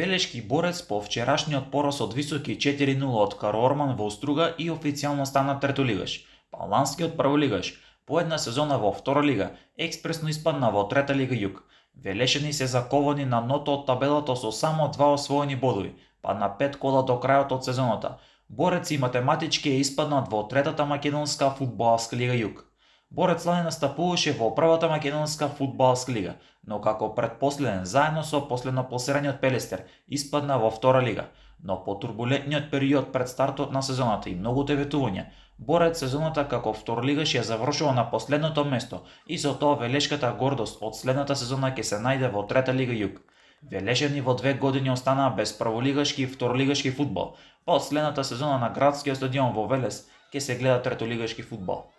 Велешки борец по вчерашниот пораз од високи 4-0 од Кароорман во Уструга и официјално стана третолигаш. Паланскиот прволигаш по една сезона во втора лига експресно испадна во трета лига Југ. Велешани се заковани на ното од табелата со само 2 освоени бодови, па на 5 кола до крајот од сезоната. Борец и математички е испаднат во третата македонска фудбалска лига Југ. Борец лани настапуваше во првата македонска фудбалска лига, но како предпоследен заедно со последно пласираниот Пелестер испадна во втора лига. Но по турбулентниот период пред стартот на сезоната и многуте ветувања, Борец сезоната како второлигаш ја завршува на последното место и со тоа велешката гордост од следната сезона ќе се најде во трета лига Југ. Велешани во 2 години останаа без прволигашки и второлигашки фудбал, па од следната сезона на градскиот стадион во Велес ќе се гледа третолигашки фудбал.